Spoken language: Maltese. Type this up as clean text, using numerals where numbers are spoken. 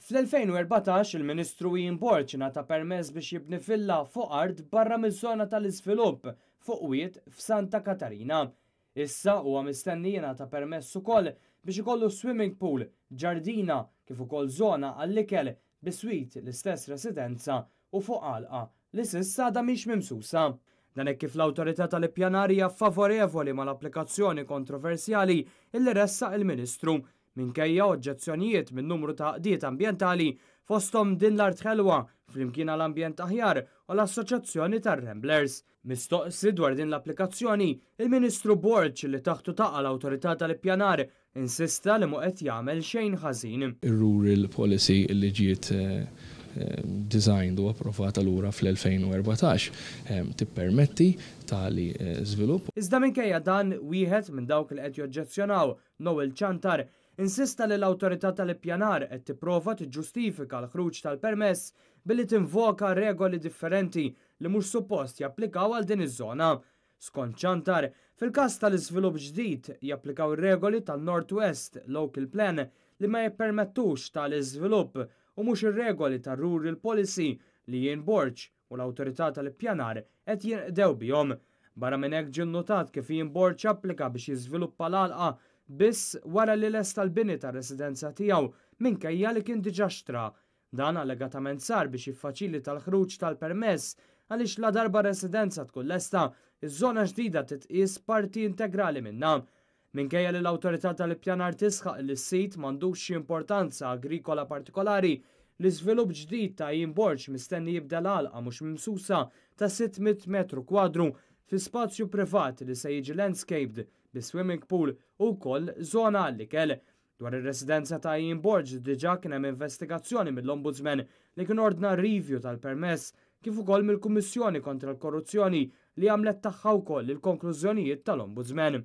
Fl-2014 il-Ministru Ian Borg ngħata permess biex jibni villa fuq art barra miż-żona tal-iżvilupp fuq wied f'Santa Katarina. Issa huwa mistenni jingħata permess ukoll biex ikollu swimming pool, ġardina, kif ukoll żona għall-ikel biswit l-istess residenza u fuq għalqa li s'issa għadha mhix mimsusa. Dan hekk kif l-Awtorità tal-Ippjanar hija favorevoli mal-applikazzjoni kontroversjali illi ressaq il-Ministru, minkejja oġġezzjonijiet minn numru ta' għaqdiet ambjentali fosthom Din l-Art Ħelwa, Flimkien għal Ambjent Aħjar u l-Assoċjazzjoni tar-Ramblers. Mistoqsi dwar din l-applikazzjoni, il-Ministru Borg li taħtu taqa' l-Awtorità tal-Ippjanar insista li mhu qed jagħmel xejn ħażin. Ir-Rural Policy li ġiet designed u approvata lura fl-2014 tippermetti tali żvilupp. Iżda minkejja dan, wieħed minn dawk li qed joġġezzjonaw, Noel Ciantar, insista li l-Awtorità tal-Ippjanar qed tipprova tiġġustifika l-ħruġ tal-permess billi tinvoka regoli differenti li mhux suppost japplikaw għal din iż-żona. Skont Ciantar, fil-każ tal-iżvilupp ġdid japplikaw ir-regoli tan-North West Local Plan li ma jippermettux tali żvilupp u mhux ir-regoli tar-Rural Policy li Ian Borg u l-Awtorità tal-Ippjanar qed jinqdew bihom. Barra minn hekk ġie nnotat kif Ian Borg applika biex jiżviluppa l-għalqa biss wara li lesta l-bini tar-residenza tiegħu minkejja li kien diġà xtra. Dan allegatament sar biex jiffaċilita l-ħruġ tal-permess għaliex ladarba residenza tkun lesta, iż-żona ġdida titqies parti integrali minnha. Minkejja li l-Awtorità tal-Ippjanar tisħaq li s-sit m'għandux xi importanza agrikola partikolari, l-iżvilupp ġdid ta' Ian Borg mistenni jibdel għalqa mhux mimsusa ta' 600 metru kwadru fi spazju privat li se jiġi landscaped bi swimming pool u wkoll żona għall-ikel. Dwar ir-residenza ta' Ian Borg diġà kien hemm investigazzjoni mill-Ombudsman li kien ordna review tal-permess kif ukoll mill-Kummissjoni kontra l-Korruzzjoni li għamlet tagħha wkoll il-konklużjonijiet tal-Ombudsman.